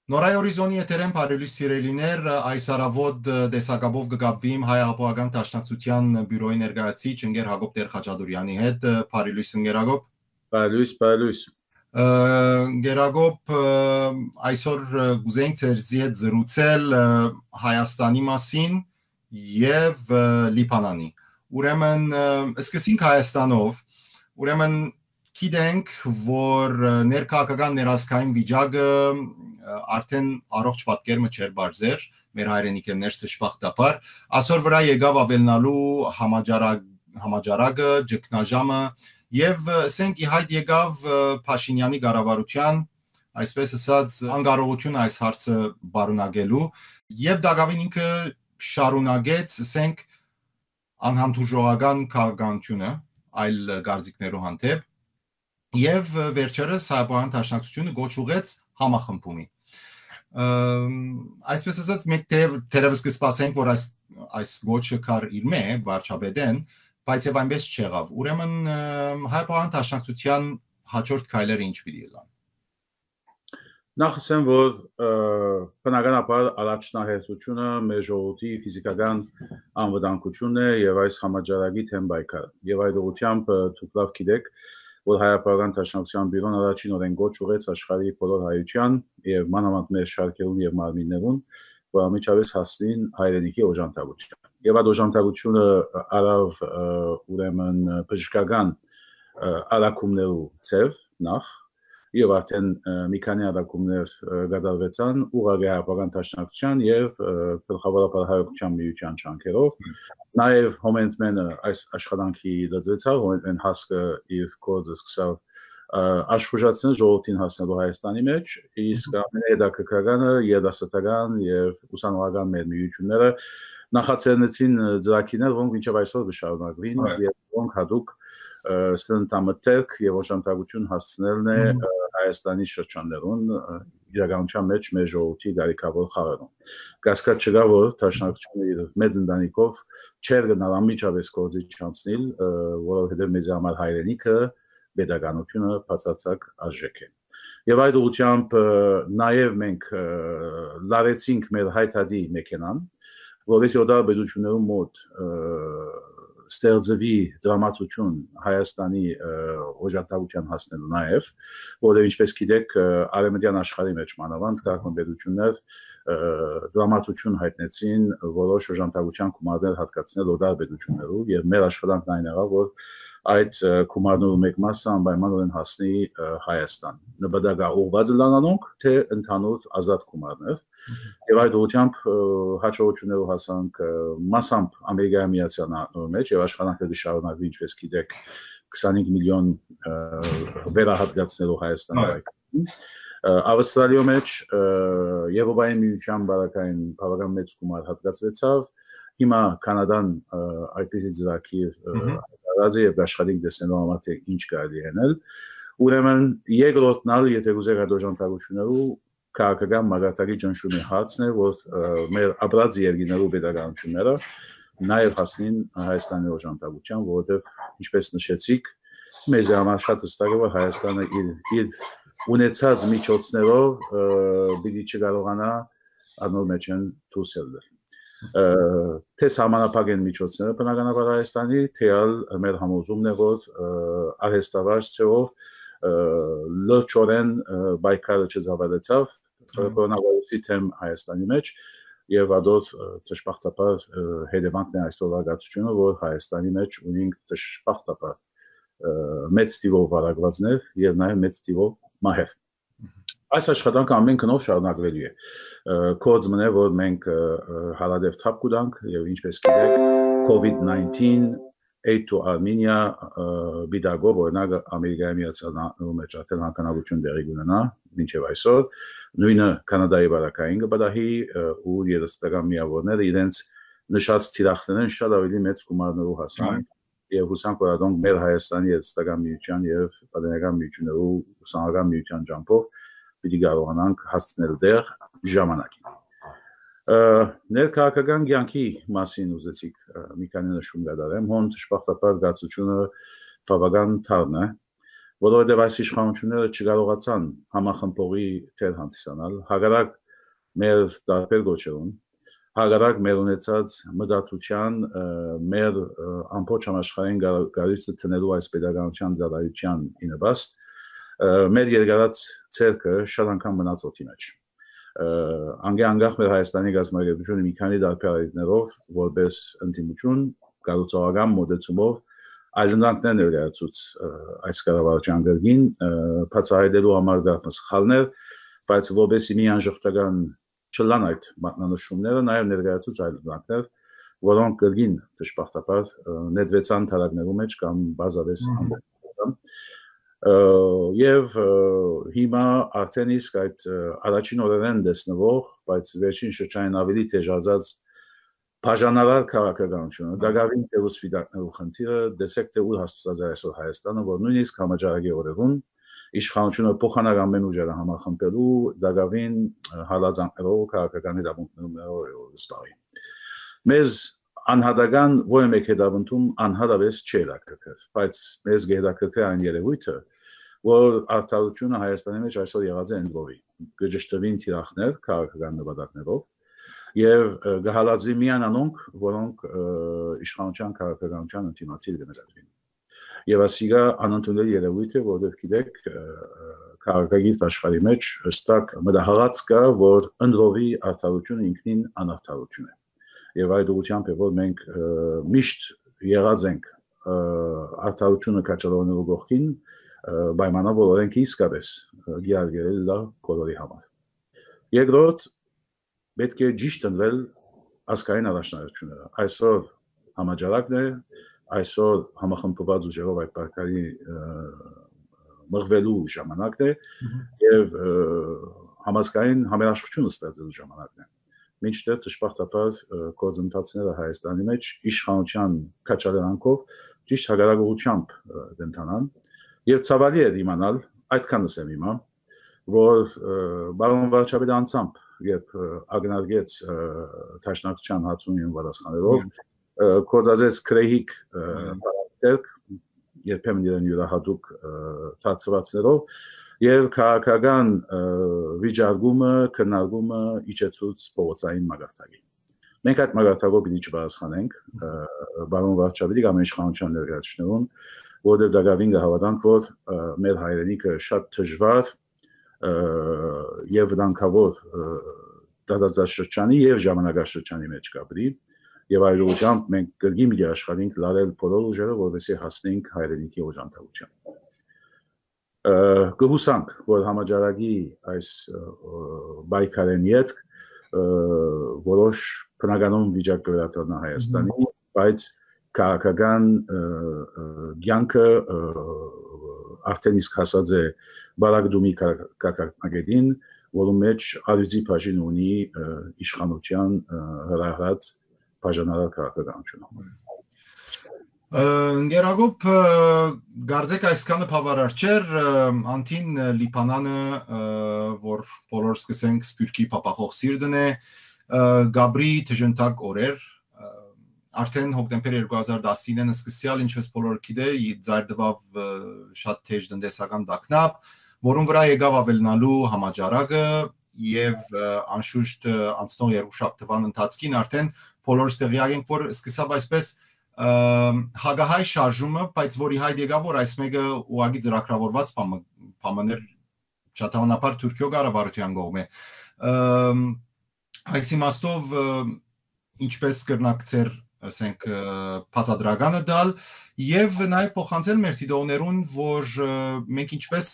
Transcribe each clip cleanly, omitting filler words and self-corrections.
Նորայ օրիզոնի եթերեն բարելույս սիրելիներ, այս առավոտ տեսակապով կգապվիմ Հայ Հեղափոխական Դաշնակցության բյուրոյի ներկայացուցիչ ընկեր Հակոբ Տեր-Խաչատուրյանի հետ, բարելույս ընկեր Հակոբ։ Բարելույս։ Գերագոբ այսօր գուզենք ձեզի հետ զրուցել Հայաստանի մասին եւ Լիբանանի։ Ուրեմն սկսենք Հայաստանով, ուրեմն գիտենք, որ ներքաղաքական ներազգային վիճակը արդեն առողջ պատկերը չէր բարձր, մեր հայրենիքներս դժբախտաբար, այսօր վրա եկավ ավելնալու համաճարակը, ճգնաժամը եւ ասենք իհայտ եկավ Փաշինյանի կառավարության, այսպես ասած, անկարողություն այս հարցը բարունակելու եւ դակավին ինքը շարունակեց, ասենք, անհամբուժողական քաղաքականությունը այլ գարձիկներով հանդեպ եւ վերջերս Հայաստան Դաշնակցությունը գոչ ուղեց համախմբումի։ Այսպես ասած, մենք թերևս կսպասենք, որ այս գոչը կար իր մե վարչապետեն, բայց եւ այնպես չեղավ։ Ուրեմն Հայաստան Դաշնակցության հաջորդ քայլերը ինչ պիտի լինեն։ Նախ ասեմ, որ բնականաբար առաջնահերթությունը մեր ժողովրդի ֆիզիկական անվտանգությունն է եւ այս համաճարակի թեմ պայքարը։ Եվ այդ ուղղությամբ դուք լավ գիտեք, որ Հայաստան Դաշնակցության բյուրոն առաջին օրեն գոչ ուղեց աշխարհի բոլոր հայության եւ մանավանդ մեր շարքերուն եւ մարմիններուն, որ ամիջավես հասնին հայրենիքի օժանդակության։ Եվ այդ օժանդակությունը արավ ուրեմն բժշկական արակումներու ցև նախ եւ արդեն մի քանի արակումներ կատարվեցան ուղղակի Հայաստան Դաշնակցության եւ գլխավորապես հայկական միության չանքերով։ Նաեւ հոմենտմենը այս աշխատանքի դարձավ, հոմենտմեն հասկը իր կոդը սկսավ աշխուժացնել ժողովրդին հասնելու Հայաստանի մեջ, իսկ ամենահետաքրքրականը երդասարտական եւ ուսանողական մեր միությունները նախաձեռնեցին ծրագիրներ, որոնք մինչեւ այսօր կշարունակվին եւ որոնք հատուկ սննդամթերք եւ օժանդակություն հասցնելն է Հայաստանի շրջաններուն իրականության մեջ մեր ժողովրդի գարիկավոր խաղերում։ Կասկած չկա, որ Դաշնակցությունը իր մեծ ընտանիքով չեր գնալ անմիջապես գործի չանցնել, որովհետեւ մեզ համար հայրենիքը pedagogiությունը բացարձակ արժեք է։ Եվ այդ ուղղությամբ նաեւ մենք լարեցինք մեր հայտարարի մեքենան, որովհետեւ օդար պետություններում մոտ ստեղծվի դրամատուրգիան Հայաստանի օժանդակության հասնելու նաև, որովհետև ինչպես գիտեք, արևմտյան աշխարհի մեջ մանավանդ քաղաքապետություններ դրամատուրգիան հայտնեցին որոշ օժանդակության գումարներ հատկացնել օդար պետություններով եւ մեր աշխատանքն այն եղավ, որ այդ գումարներու մեկ մասը անպայմանորեն հասնի Հայաստան։ Նպատակը ուղղված լանանոնք, թե ընդհանուր ազատ գումարներ։ Եվ այդ ուղղությամբ հաջողություններով հասանք մասամբ Ամերիկայի Միացյալ Նահանգների մեջ եւ աշխատանքը կշարունակվի, ինչպես գիտեք, 25 միլիոն վերահատկացնելու Հայաստանի։ Ավստրալիայի մեջ Եվրոպայի միության բավական մեծ գումար հատկացվեցավ։ Հիմա Կանադան այդպիսի ծրագիր հայտարարած է եւ աշխատանք դեսնելու համար թե ինչ կարելի անել։ Ուրեմն երկրորդն ալ, եթե ուզեք այդ օժանդակություններով քաղաքական մագարտակի ճնշումի հարցն է, որ մեր ապրած երկիներու pedagogiությունները նաև հասնին Հայաստանի օժանդակության, որովհետև ինչպես նշեցիք, մեզ համար շատ հստակ է, որ Հայաստանը իր ունեցած միջոցներով պիտի չկարողանա անոր մեջ են դուրս ելնել։ Թե սահմանափակ են միջոցները բնականաբար Հայաստանի, թե մեր համոզումն է, որ արհեստավարժ ցեով լրջորեն պայքարը չզավալեցավ կորոնավիրուսի թեմ Հայաստանի մեջ եւ ադոց դժբախտաբար հետևանքն է այսօրվա գացությունը, որ Հայաստանի մեջ ունենք դժբախտաբար մեծ տիվով վարակվածներ եւ նաեւ մեծ տիվով մահեր։ Այս աշխատանքը ամեն կնով շարունակվելու է։ Կոծմն է, որ մենք հարադեպ թափ կուտանք եւ ինչպես գիտեք COVID-19 Aid to Armenia բիդագով օրինակ Ամերիկայի Միացյալ Նահանգների մեջ արդեն հանքանավություն դեղի ունենա մինչև այսօր, նույնը Կանադայի բարակային կբադահի ու երաժշտական միավորները իրենց նշած թիրախներն շատ ավելի մեծ գումարներով հասան եւ հուսանք որ ադոնք մեր Հայաստանի երաժշտական միության եւ պատանեկան միություններու ուսանողական միության ջամփով պիտի կարողանանք հասցնել դեր ժամանակին։ Ներքաղաքական կյանքի մասին ուզեցիք մի քանի նշում կատարեմ, հոն դժբախտաբար գացությունը բավական թարն է, որովհետև այս իշխանությունները չկարողացան համախմբողի թեր հանդիսանալ, հակառակ մեր տարբեր գոչերուն, հակառակ մեր ունեցած մտածության, մեր ամբողջ համաշխարհային գարույցը տնելու այս pedagogical ծառայության ինվաստ, մեր երկարած ցերկը շատ անգամ մնաց օդի մեջ։ Անգախ մեր Հայաստանի գազམ་ագիտությունը մի քանի դարբերներով որպես ընդդիմություն կառուցողական մոդեցումով այլընտրանքներ ներկայացուց այս կառավարության գրգին բացահայտելու համար դարձ սխալներ, բայց որպես մի անժխտական չլան այդ մատնանշումները նաև ներկայացուց այլընտրանքներ, որոնք գրգին դժբախտաբար նետվեցան թարակներու մեջ կամ բազավես ամբողջությամբ Եվ հիմա արդեն իսկ այդ առաջին օրերեն տեսնվող, բայց վերջին շրջանին ավելի թեժացած բաժանարար քաղաքականությունը, դակավին թեւու սպիտակներու խնդիրը, դեսեք թե ուր հասցած է այսօր Հայաստանը, որ նույնիսկ համաճարակի օրերուն իշխանությունը փոխանակ ամեն ուժերը համախմբելու դակավին հալածանքներով քաղաքական իրավունքներով զբաղի։ Մեզ անհատական ո՞ր մեկ հետավնդում անհատավես չէ դակրկր, բայց մեզ գեհդակրկր այն երևույթը, որ արդարությունը Հայաստանի մեջ այսօր եղած է ընդվորի, գժշտվին թիրախներ քաղաքական նպատակներով եւ գահալածվի միան անոնք, որոնք իշխանության քաղաքականության ինտիմատիվ գնահատվին։ Եվ ասիգա անընդունելի երևույթ է, որովհետեւ գիտեք քաղաքագիծ աշխարհի մեջ հստակ մտահղած կա, որ ընդվորի արդարությունը ինքնին անարդարություն է։ Եվ այդ ուղղությամբ է, որ մենք միշտ եղած ենք արդարությունը կաչալանելու գողքին պայմանով որ ենք իսկապես գիարգել դա բոլորի համար։ Երկրորդ պետք է ճիշտ ընդվել ազգային առաջնահերթությունները։ Այսօր համաճարակն է, այսօր համախմբված ուժերով այդ պարկարի մղվելու ժամանակն է եւ համազգային համերաշխությունը ստեղծելու ժամանակն է։ Մինչդեռ դժբախտաբար գործընթացները Հայաստանի մեջ իշխանության քաչալերանքով ճիշտ հակարակությամբ դենտանան եւ ցավալի է իմանալ այդքան ասեմ հիմա որ բարոն Վարչապետը անցամբ երբ ագնարգեց Տաշնակցության հացունին պատասխանելով կոծածեց քրեհիկ բարակտերք երբեմն իրեն յուրահատուկ ծածկվածներով եւ քաղաքական վիճակումը քննարկումը իջեցուց փողոցային մագարտակի։ Մենք այդ մագարտակով պիտի չպատասխանենք բարոն Վարչապետի կամ իշխանության ներկայացուցիչներուն, որովհետեւ դակավին կհավատանք, որ մեր հայրենիքը շատ դժվար եւ վտանգավոր դատաստանշրջանի եւ ժամանակաշրջանի մեջ կապրի եւ այդ ուղղությամբ մենք կրկին մի աշխատենք լարել բոլոր ուժերը, որովհետեւ հասնենք հայրենիքի օժանդակության։ Գհուսանք, որ համաճարակի այս բայկարեն յետք որոշ բնականոն վիճակ կվերաթարնա Հայաստանի, բայց քաղաքական ցանկը արդեն իսկ հասած է բարակդումի կակակագետին, որում մեջ արյուծի բաժին ունի իշխանության հրահրած բաժանարար քաղաքականությունը։ Գերագոբ գարձեք այսքանը բավարար չէր, անտին լիփանանը, որ բոլոր սկսենք սպյուրքի փապախող սիրտն է, Գաբրի թժնտակ օրեր, արդեն հոկտեմբեր 2019-ն սկսյալ, ինչպես բոլորը գիտե, ձայրդվավ շատ թեժ տնտեսական տագնապ, որում վրա եկավ ավելնալու համաճարակը եւ անշուշտ անցնող երկուշաբթ թվական ընթացքին արդեն բոլորս տեղյակ ենք, որ սկսավ այսպես հագահայ շարժումը, բայց որի հայտ եկավ, որ այս մեկը ուղղակի ծրագրավորված բաներ չաթավանաբար Թուրքիո կառավարության կողմէ։ Այս իմաստով ինչպես կրնակցեր ասենք բացադրականը դալ եւ նաեւ փոխանցել մեր դիտողներուն, որ մենք ինչպես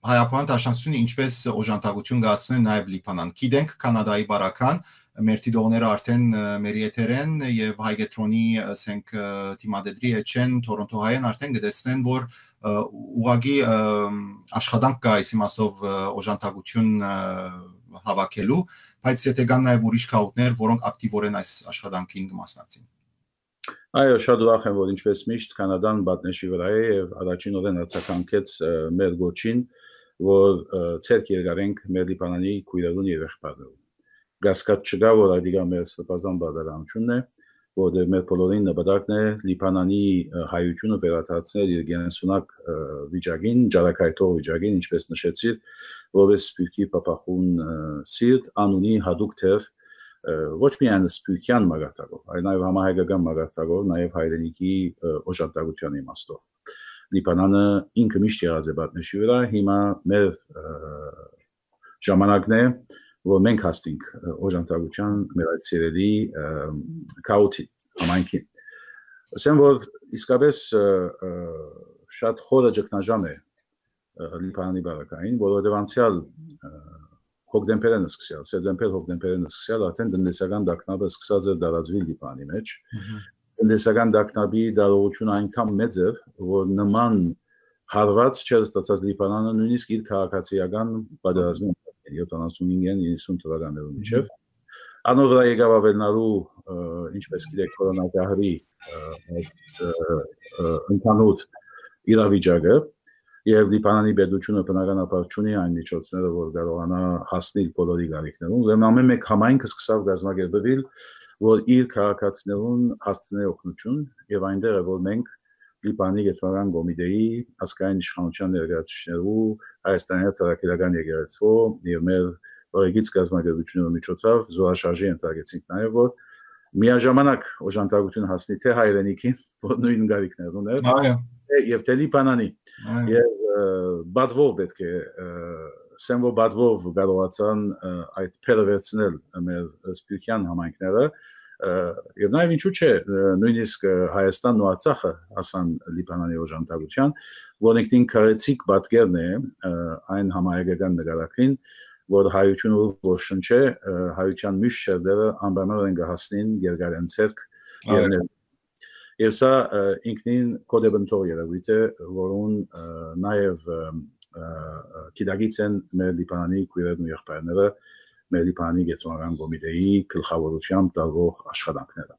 հայապան դաշնակցությունը ինչպես օժանդակություն կհասցնեն նաեւ Լիբանան։ Գիտենք Կանադայի բարական մեր դիտողները արդեն մեր եթերեն եւ Հայգետրոնի ասենք թիմադեդրի էջեն Թորոնտոհայեն արդեն կտեսնեն, որ ուղղակի աշխատանք կա այս իմաստով օժանդակություն հավաքելու, բայց եթե կան նաեւ ուրիշ քաղաքներ, որոնք ակտիվորեն այս աշխատանքին կմասնակցին։ Այո, շատ ուրախ եմ, որ ինչպես միշտ Կանադան պատնեշի վրա է եւ առաջին օրեն արձագանքեց մեր գոչին, որ ցերկ երկարենք մեր Լիբանանի քույրերուն եւ եղբայրներուն։ Գասկած չկա, որ այդիկա մեր սպասան բարդարանությունն է որտեղ մեր բոլորին նպատակն է Լիբանանի հայությունը վերադարձնել իր գենսունակ վիճակին, ճարակայթող վիճակին, ինչպես նշեցի, որպես սփյուռքի փապախուն սիրտ անունի հadouk թեր ոչ միայն սփյուռքյան մագարտակով, այլ նաև համահայկական մագարտակով, նաև հայրենիքի օժանդակության իմաստով։ Լիբանանը ինքը միշտ եղած է պատնեշի վրա, հիմա մեր ժամանակն է, որ մենք հասնենք օժանդակության մեր այդ սիրելի քաոթի համայնքին։ Ասեմ, որ իսկապես շատ խորը ճգնաժամ է Լիբանանի բանակային, որովհետև անցյալ հոկտեմբերն սկսյալ, սեպտեմբեր-հոկտեմբերն սկսյալ արդեն տնտեսական դակնապը սկսած է դարածվել Լիբանանի մեջ։ Տնտեսական դակնապի դարողությունը այնքան մեծ է, որ նման հարված չէր ստացած Լիբանանը նույնիսկ իր քաղաքացիական պատերազմի 75-90 թվականներում միջև անոր վրա եկավ ավելնալու ինչպես գիտեք կորոնավիրուսի ընդհանուր իրավիճակը եւ Լիբանանի պետությունը բնականաբար չունի այն միջոցները, որ կարողանա հասնել բոլորի գաղիքներուն, ուրեմն ամեն մեկ համայնքը սկսավ գազམ་ակերպվել, որ իր քաղաքացիներուն հասցնի օգնություն եւ այնտեղ է որ մենք Լիբանանի գետրոնական կոմիտեի ազգային իշխանության ներկայացուցիչներու Հայաստանի Հանրապետական եկեղեցու եւ մեր օրենքից գազམ་ակերպությունների միջոցով զորաշարժի ընդգրկեցինք նաեւ որ միաժամանակ օժանդակություն հասնի թե հայրենիքին, որ նույն գաղիքներ ուներ, եւ թե Լիբանանի եւ բադվով պետք է սենվո բադվով կարողացան այդ փելվեցնել մեր սփյուռքյան համայնքները եւ նաեւ ինչու՞ չէ նույնիսկ Հայաստանն ու Արցախը հասան Լիբանանի օժանդակության, որոնքին քարեցիկ պատկերն է այն համայնքական նկարակին, որ հայությունը որ շնչե հայության միշտ շերտերը անբանորեն կհասնին երկարեն ցերկ եւ սա ինքնին կոդեբնտոր երևույթ է, որուն նաեւ գիտակից են մեր Լիբանանի քույրերն ու եղբայրները մեր Լիբանանի գետրոնական կոմիտեի գլխավորությամբ տարվող աշխատանքները։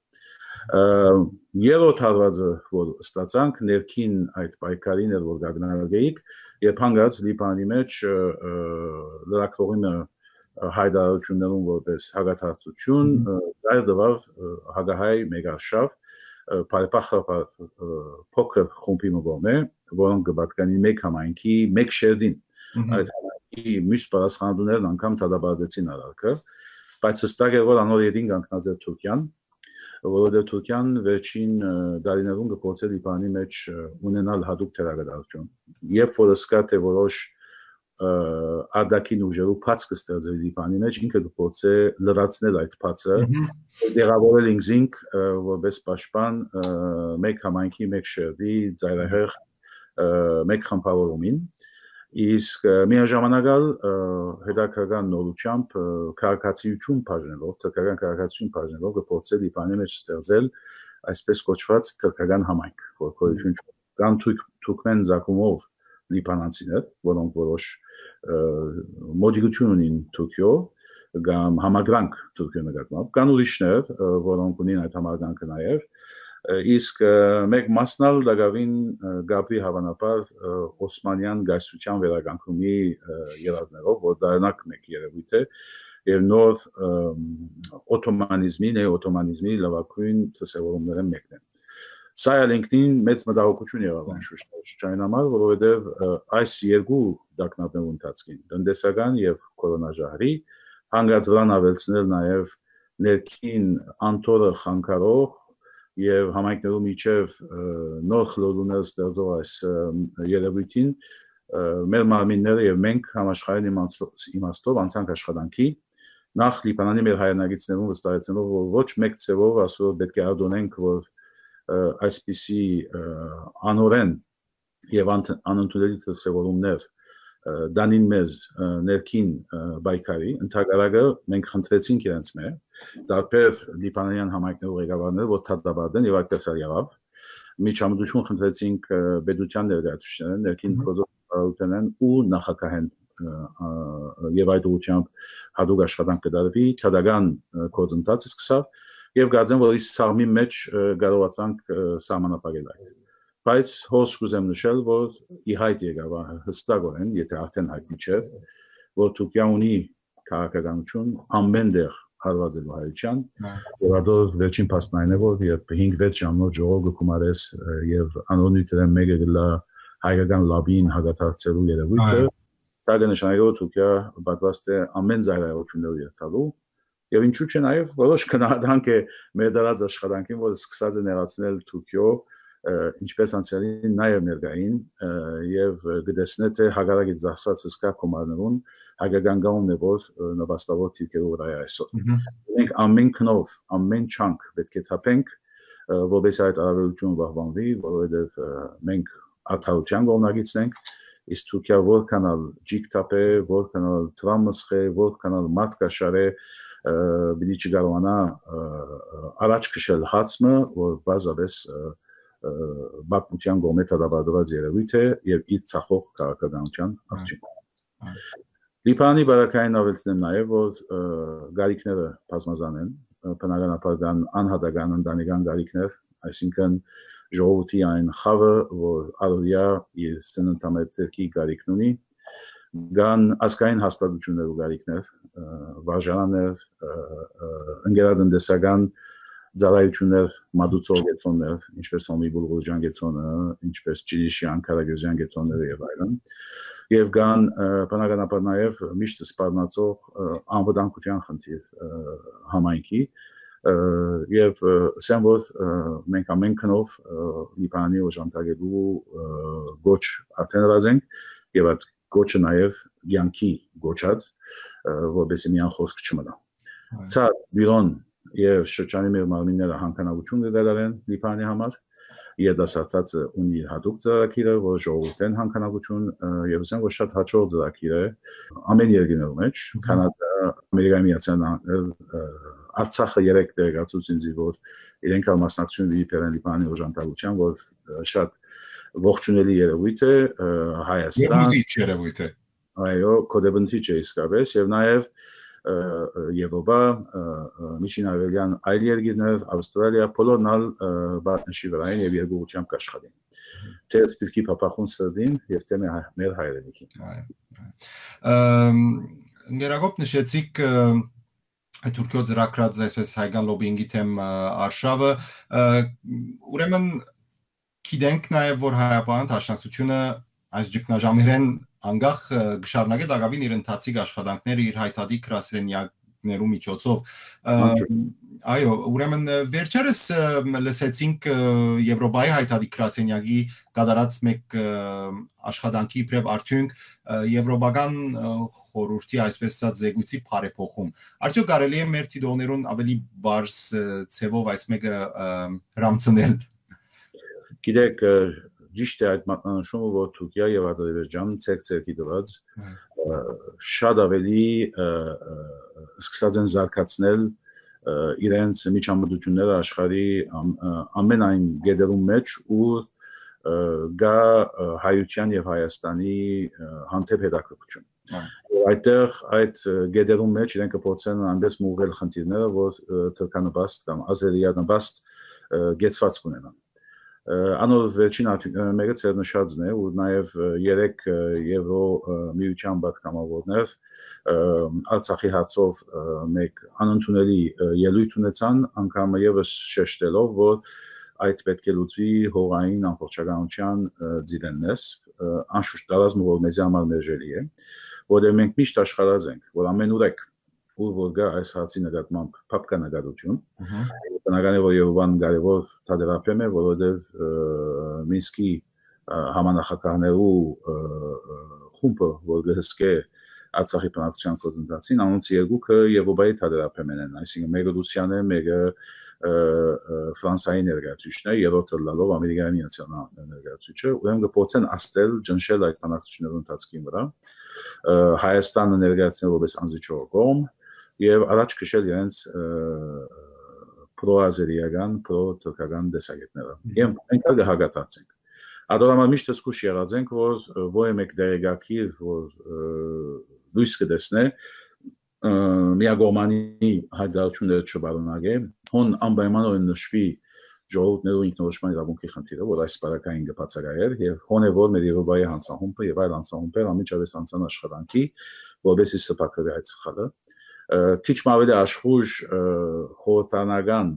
Երրորդ հարվածը, որ ստացանք ներքին այդ պայքարին էր, որ գագնալեիք, երբ հանգած Լիբանանի մեջ լրակողինը հայդարարություններում որպես հագաթարցություն, դարձավ հագահայ մեգարշավ, պայպախապար փոքր խումբի մոմե, որոնք կպատկանի մեկ համայնքի, մեկ շերտին, այդ համայնքի միշտ պատասխանատուներն անգամ դադարեցին արարքը, բայց հստակ է, որ անոր ետին կանգնած է Թուրքիան, որովհետև Թուրքիան վերջին դարիներուն կփորձել Լիբանանի մեջ ունենալ հadouk թերագադարություն։ Երբ որ սկա թե որոշ արտաքին ուժերու փած կստեղծել Լիբանանի մեջ, ինքը կփորձե լրացնել այդ փածը, դեղավորել ինքզինք որպես պաշտպան մեկ համայնքի, մեկ շերտի, ծայրահեղ մեկ խմբավորումին, իսկ միաժամանակ հետաքրքրական նորությամբ քաղաքացիություն բաժնելով, թուրքական քաղաքացիություն բաժնելով կփորձել Լիբանանի մեջ ստեղծել այսպես կոչված թուրքական համայնք, որ քույրություն կան թուրքմեն զակումով լիբանանցիներ, որոնք որոշ մոդիգություն ունին Թուրքիո, կամ համագրանք Թուրքիո նկատմամբ, կան ուրիշներ, որոնք ունին այդ համագրանքը նաև, իսկ մեկ մասնալ դակավին գաբրի հավանաբար Օսմանյան գայսության վերականգնումի երազներով, որ դարնակ մեկ երևույթ է, եւ նոր օթոմանիզմի, նեոօթոմանիզմի լավագույն դրսևորումները մեկն է։ Սա ինքնին մեծ մտահոգություն եղավ անշուշտ համար, որովհետև այս երկու դակնապների ընթացքին, տնտեսական եւ կորոնաժահրի, հանգած վրան ավելցնել նաեւ ներքին անտորը խանգարող եւ համայնքներու միջև նոր խլոդուներ ստեղծող այս երևույթին մեր մարմինները եւ մենք համաշխարհային իմաստով անցանք աշխատանքի նախ Լիբանանի մեր հայրենագիտներուն վստահեցնելով որ ոչ մեկ ցևով ասոր պետք է ադոնենք որ այսպիսի անորեն եւ անընդունելի դրսևորումներ դանին մեզ ներքին բայկարի ընդհանրակը մենք խնդրեցինք իրենց մեր դարբեր լիբանանյան համայնքներու ղեկավարները որ դատաբարդեն եւ այդպես եղավ միջամտություն խնդրեցինք պետության ներկայացուցիչներին ներքին գործողություններն ու նախագահեն եւ այդ ուղղությամբ հadouk աշխատանք կդարվի թադական գործընթացը սկսավ եւ գազեն որ ის սաղմի մեջ կարողացանք սահմանապահել այդ բայց հոս կուզեմ նշել որ իհայտ եկավ հստակորեն եթե արդեն հայտնի չէ որ Թուրքիան ունի քաղաքականություն ամենտեղ հարվածելու հայության, որադոր վերջին փաստն այն է, որ երբ 5-6 ժամանակ ժողով գումարես եւ անոնիթերեն մեկը գլա հայկական լաբին հագաթարցելու երևույթը, դա կնշանակի, որ Թուրքիա պատրաստ է ամեն զայրայություններ երթալու եւ ինչու՞ չէ նաեւ որոշ քննադանք է մեր դրած աշխատանքին, որ սկսած է ներածնել Թուրքիո ինչպես անցյալին նաեւ ներկային եւ գտեսնե թե հագարակի ծախսած հսկա կոմարներուն հայկական գաումն է որ նվաստավոր թիրքերով վրա է այսօր մենք ամեն քնով ամեն չանք պետք է թափենք որպես այդ արարողությունը վահվանվի որովհետեւ մենք արդարության կողմնակիցնենք իսկ Թուրքիա որքանալ ջիկ թափե որքանալ տրամսխե որքանալ մատկաշարե բիդի չկարողանա առաջ քշել հացը որ բազապես բակմության գոմե տադաբադված երևույթ է եւ իր ցախող քաղաքականության արդյունք Լիբանանի բարակային ավելցնեմ նաեւ որ գարիկները բազմազան են բնականաբար կան անհատական ընտանեկան գարիկներ այսինքն ժողովրդի այն խավը որ արորիա իր սննդամթերքի գարիկն ունի Կան ազգային հաստատություններ ու գարիկներ, վարժարաններ, ընկերատնտեսական ծառայություններ, մատուցող կենտրոններ, ինչպես Սոմի Բուլղուրջյան կենտրոնը, ինչպես Ճիրիշյան, Քարագյուզյան կենտրոնները եւ այլն։ Եվ կան բնականաբար նաեւ միշտ սպառնացող անվտանգության խնդիր համայնքի եւ ասեմ որ մենք ամեն քնով Լիբանանի օժանդակելու գոչ արդեն ռազենք եւ այդ գոչը նաև յանքի գոչած որովհետեւ միան խոսք չմնա ցա բյուրոն եւ շրջանի մեր մարմինները հանքանագություն դերարեն Լիբանանի համար երդասարտածը ունի հատուկ ծրագիրը որ ժողովրդեն հանքանագություն եւ ասեմ որ շատ հաջող ծրագիր է ամեն երկրներում մեջ կանադա ամերիկայի միացյալ նահանգներ Արցախը 3 դերակացուց ինձ որ իրենք մասնակցություն դիպերեն Լիբանանի օժանդակության որ շատ ողջունելի երևույթ է Հայաստան երևույթ է այո կոդեբնտիչ է իսկապես եւ նաեւ Եվրոպա միջինարևելյան այլ երկրներ Ավստրալիա բոլորնալ բատնշի վրային եւ երկուությամբ կաշխատեն թե սպիրկի փապախուն սրդին եւ թե մեր հայրենիքին Գերագոպ նշեցիք Թուրքիո ծրագրած այսպես հայկական լոբինգի թեմ արշավը ուրեմն Գիտենք նաև որ հայապահան դաշնակցությունը այս ճգնաժամերեն անգախ գշարնագե դակավին իր ընթացիկ աշխատանքները իր հայտարարի գրասենյակներու միջոցով այո ուրեմն վերջերս լսեցինք Եվրոպայի հայտարարի գրասենյակի կատարած մեկ աշխատանքի իբրև արդյունք եվրոպական խորհրդի այսպես ասած զեկույցի բարեփոխում արդյոք կարելի է մեր դիտողներուն ավելի բարձ ցևով այս մեկը հրամցնել Գիտեք ճիշտ է այդ մատնանշումը որ Թուրքիա եւ Ադրբեջանը ցերկ-ցերկի դված շատ ավելի սկսած են զարգացնել իրենց միջամտությունները աշխարհի ամեն այն գեդերում մեջ ու գա հայության եւ Հայաստանի հանդեպ հետաքրքրություն այդտեղ այդ գեդերում մեջ իրենք կփորձեն այնպես մուղել խնդիրները որ թրքանաբաստ կամ ազերիանաբաստ գեցված կունենան Անոր վերջին մեկը ցերնշածն է ու նաև 3 եվրո միության պատգամավորներ Արցախի հարցով մեկ անընդունելի ելույթ ունեցան անգամ եւս շեշտելով որ այդ պետք է լուծվի հողային ամբողջականության ձիրենես անշուշտ դարազմ որ մեզ համար մերժելի է որը մենք միշտ աշխարհած ենք որ ամեն ուրեք ու որ գա այս հարցի նկատմամբ փապկանագարություն բնական է որ Եվրոպան կարևոր թադերապեմ է որովհետև Մինսկի համանախագահներու խումբը որ գհսկե Արցախի բնակչության գործընթացին անոնց երկուքը Եվրոպայի թադերապեմն են այսինքն մեկը Ռուսիան է մեկը Ֆրանսիայի ներկայացուցիչն է երրորդը լալով Ամերիկայի Միացյալ Նահանգների ներկայացուցիչը ուրեմն գործեն աստել ջնշել այդ բնակչությունների ընթացքին վրա Հայաստանը ներկայացնել որպես անզիջող կողմ եւ առաջ քշել իրենց պրոազերիական, պրոթուրքական դեսագետները։ Եվ մենք հագատացենք։ Ադորամալ միշտ զգուշ եղած ենք, որ ոյ մեկ դերեկակիր, որ լույս կտեսնե միագորմանի հայտարարությունները չբարունագե, հոն անպայմանորեն նշվի ժողովուրդներու ինքնորոշման իրավունքի խնդիրը, որ այս բարակային կբացակայեր, եւ հոն է որ մեր Եվրոպայի հանձնախումբը եւ այլ հանձնախումբեր անմիջապես անցան աշխատանքի, որովհետեւ սպասարկել այդ սխալը քիչ ավելի աշխույժ խորհրդանական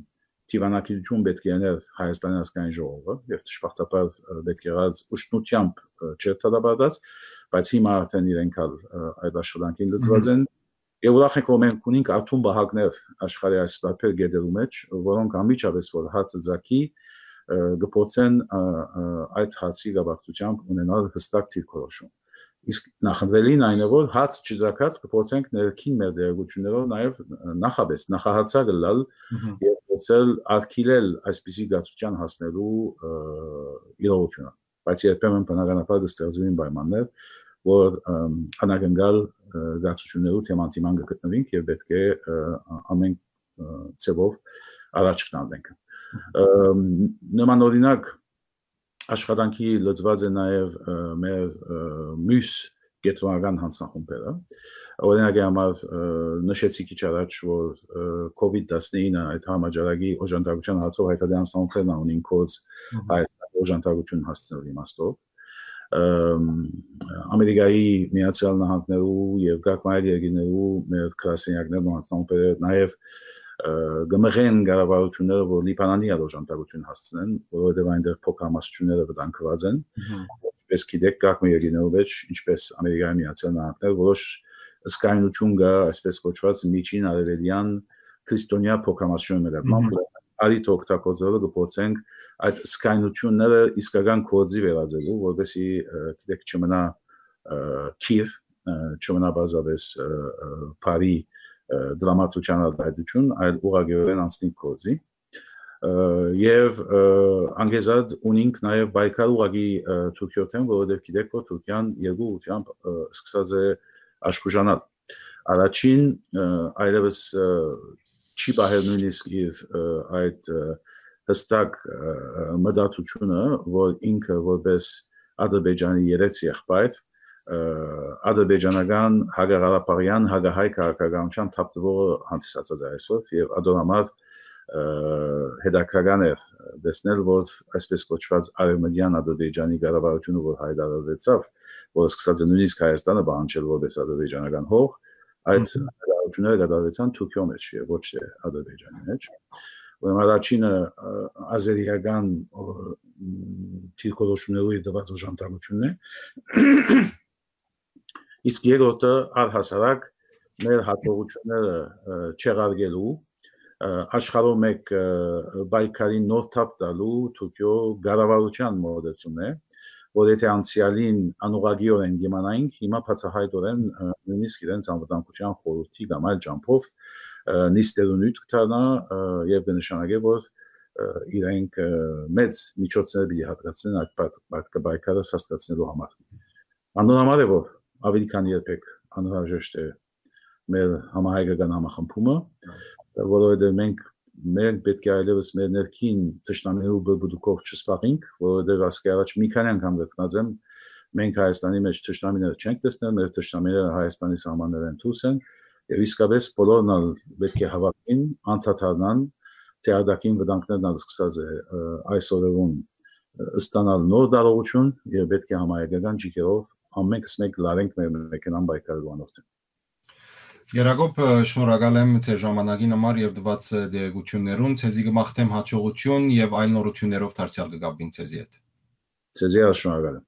Տիվանակիցություն պետք է աներ Հայաստանի ազգային ժողովը եւ դժբախտաբար պետք է եղած ուշնությամբ չէր դադարած, բայց հիմա արդեն իրենք այդ աշխատանքին լծված են եւ ուրախ ենք որ մենք ունենք աթոմ բահակներ աշխարհի այս տարբեր գետերու մեջ, որոնք անմիջապես որ հացը ձակի գործեն այդ հացի գաբակցությամբ ունենալ հստակ դիրքորոշում։ Իսկ նախընտրելին այն է որ հաց չձակած կփորձենք ներքին մեր դերակցություններով նաեւ նախաբես նախահացա գլալ եւ փորձել արգելել այսպիսի գացության հասնելու իրողությունը, բայց երբեմն բնականաբար դստեղծվին պայմաններ, որ անագնգալ գացություններու թեմանտիման գտնվենք եւ պետք է ամեն ծավով առաջ գնանք։ Նման օրինակ աշխատանքի լծված է նաև մեր մյուս կենտրոնական հանձնախումբերը, օրինակ համար նշեցի քիչ առաջ, որ COVID-19 այդ համաճարակի օժանդակության հարցով հայտարարի հանձնախումբերն ունին կոց Հայաստանի օժանդակություն հասցնելու իմաստով, Ամերիկայի Միացյալ Նահանգներու եւ գաղտնի երկրներու մեր քրասենյակներն ու հանձնախումբերը նաև գմղեն գարավարությունները, որ Լիբանանի օժանդակություն հասցնեն, որովհետև այնտեղ փոքրամասնությունները վտանգված են, ինչպես գիտեք, գաղտնի երկրներու մեջ, ինչպես Ամերիկայի Միացյալ Նահանգներ, որոշ ըսկայնություն կա, այսպես կոչված միջին արևելյան քրիստոնյա փոքրամասնությունների նկատմամբ, արիտ օգտագործելով կփորձենք այդ ըսկայնությունները իսկական կոդի վերածելու, որովհետեւ գիտեք չմնա քիվ, չմնա բազավես բարի դրամատուրգիան արտադրություն, այլ ուղղակիորեն անցնի կոդի եւ անգեզად ունենք նաեւ բայկալ ուղղակի Թուրքիոթեն, որովհետեւ գիտեք որ Թուրքիան երկու ուղությամբ սկսած է աշխուժանալ։ Առաջին այլևս չի բահել նույնիսկ իր այդ հստակ մտածությունը, որ ինքը որպես Ադրբեջանի երեք եղբայր ադրբեջանական հակառապարյան հակահայ քաղաքականության թափտվողը հանդիսացած է այսօր եւ ադորամար հետաքրքրական է տեսնել, որ այսպես կոչված արևմտյան Ադրբեջանի կառավարությունը որ հայտարարվեցավ, որ սկսած է նույնիսկ Հայաստանը բանջել որպես ադրբեջանական հող, այդ հայտարարությունները կատարվեցան Թուրքիո մեջ եւ ոչ թե Ադրբեջանի մեջ։ Ուրեմն առաջինը ազերիական դիրքորոշումների դված օժանդակությունն է։ Իսկ երկրորդը առհասարակ մեր հատողությունները չեղարկելու աշխարհում մեկ բայկարի նոր թափ տալու Թուրքիո կառավարության մոդեցումն է, որ եթե անցյալին անուղղակիորեն դիմանայինք, հիմա բացահայտորեն նույնիսկ իրենց անվտանգության խորհրդի կամ այլ ջամփով նիստերունույթ կդառնա եւ կնշանակի, որ իրենք մեծ միջոցներ պիտի հատկացնեն այդ բայկարը հասկացնելու համար։ Անոնամար է որ ավելի քան երբեք անհրաժեշտ է մեր համահայկական համախմբումը, որովհետև մենք պետք է այլևս մեր ներքին թշնամիներու բրբուդուկով չսպաղենք, որովհետև ասկի առաջ մի քանի անգամ գտնած եմ, մենք Հայաստանի մեջ թշնամիներ չենք տեսնել, մեր թշնամիները Հայաստանի սահմաններեն դուրս են, եւ իսկապես բոլորն պետք է հավաքվին, անդադարնան, թեադակին վտանգներն սկսած է այս օրերուն ստանալ նոր դարողություն եւ պետք է համահայկական ջիքերով ամենքս մեկ լարենք մեր մեքենան բայկալու անորթ։ Գերագոբ շնորհակալ եմ ձեր ժամանակին համար եւ դված դերակցություններուն, ցեզի կմաղթեմ հաջողություն եւ այլ նորություններով դարձյալ կգաբվին ցեզի հետ։ Ցեզի շնորհակալ եմ։